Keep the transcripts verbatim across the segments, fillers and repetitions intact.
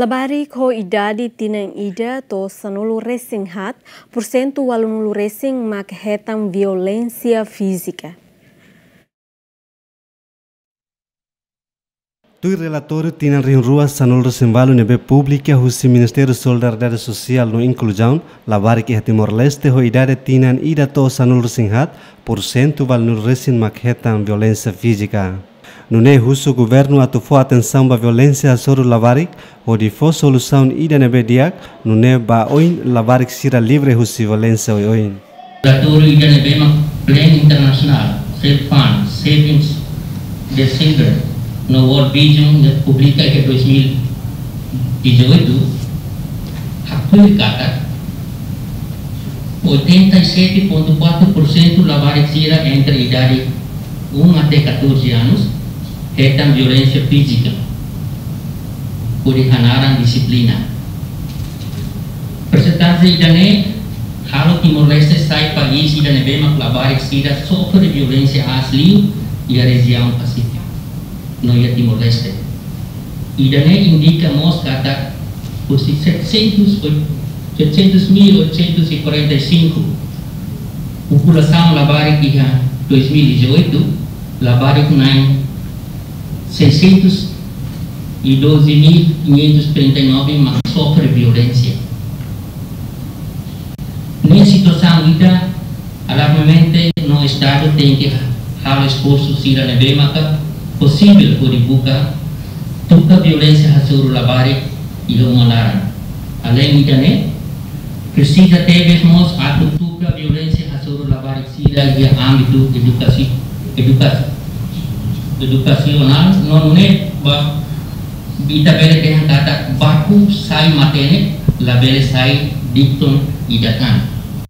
Labarik ho idade tinan ida to'o sanulu resin haat, pursentu ualunulu resin mak hetan violénsia fízika. Tuir relatóriu tinan rihun rua sanulu resin ualu ne'ebé publika husi Ministériu Solidariedade Sosiál no Inkluzaun, labarik iha Timor-Leste ho idade tinan ida to'o sanulu resin haat, pursentu ualunulu resin mak hetan violénsia fízika. Nune'e husu governu atu fó atensaun ba violénsia hasoru labarik, hodi fó solusaun ida ne'ebé di'ak, nune'e ba oin labarik sira livre husi violénsia oioin. Relatóriu ida ne'ebé mak Plan Internasionál Self Fund Saving the Children no World Vision ne'ebé publika iha dois mil e dezoito, haktuir katak oitenta e sete ponto quatro por cento labarik sira entre idade um até catorze anos hetan violénsia fízika, hodi hanaran dixiplina. Persentajen ida-ne'e halo Timor-Leste sai país ida ne'ebé mak labarik sira sofre violénsia aas liu iha rejiaun Pasífiku no iha Timor-Leste. Ida-ne'e indika mós katak husi setecentos, setecentos mil oitocentos e quarenta e cinco populasaun labarik iha dois mil e dezoito, labarik na'in seiscentos e doze mil quinhentos trinta e nove mak sofre violénsia. Ne'e situasaun ida alarmante no Estadu tenke halo esforsu sira ne'ebé maka posivel hodi buka tuka violénsia hasoru labarik iha uma laran. Aleinde ida-ne'e, presiza tebes mós atu tuka violénsia hasoru labarik sira iha ámbitu edukasi-, eduka-, edukasionál no nune'e ba ita bele dehan katak barku sai matenek, labele sai dikton ida tan.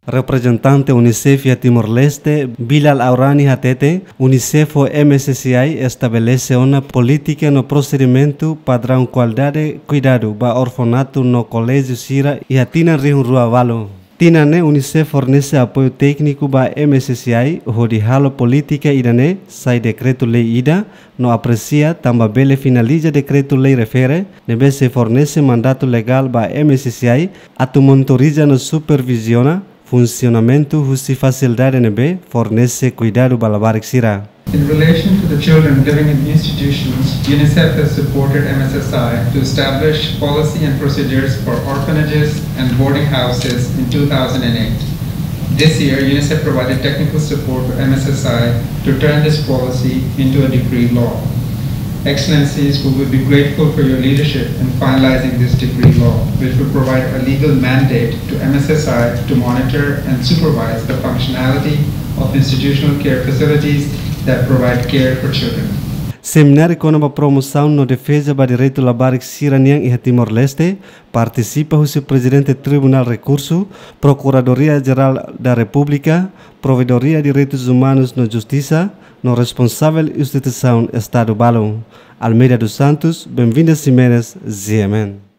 Reprezentante UNICEF iha Timor-Leste, Bilal Aurani hateten, UNICEF ho M S S I estabelese ona polítika no prosedimentu padraun kualidade kuidadu ba orfanatu no koléjiu sira iha tinan rihun rua ualu. Tinan ne'e UNICEF fornese apoiu tékniku ba M S S I hodi halo polítika ida-ne'e sai dekretu-lei ida, no apresia tanba bele finaliza dekretu-lei refere ne'ebé sei fornese mandatu legál ba M S S I atu monitoriza no superviziona funsionamentu husi fasilidade ne'ebé fornese kuidadu ba labarik sira. In relation to the children living in institutions, UNICEF has supported M S S I to establish policy and procedures for orphanages and boarding houses in two thousand eight. This year, UNICEF provided technical support for M S S I to turn this policy into a decree law. Excellencies, we would be grateful for your leadership in finalizing this decree law, which will provide a legal mandate to M S S I to monitor and supervise the functionality of institutional care facilities that provide care for children. Semináriu kona-ba promosaun no defeza ba direitu labarik sira-nian iha Timor-Leste, partisipa husi Prezidente Tribunál Rekursu, Prokuradoria-Jerál da Repúblika, Provedoria Direitus Umanus no Justisa, no responsavel instituisaun Estadu balu. Almeida dos Santos, Benvinda Ximenes, G M N.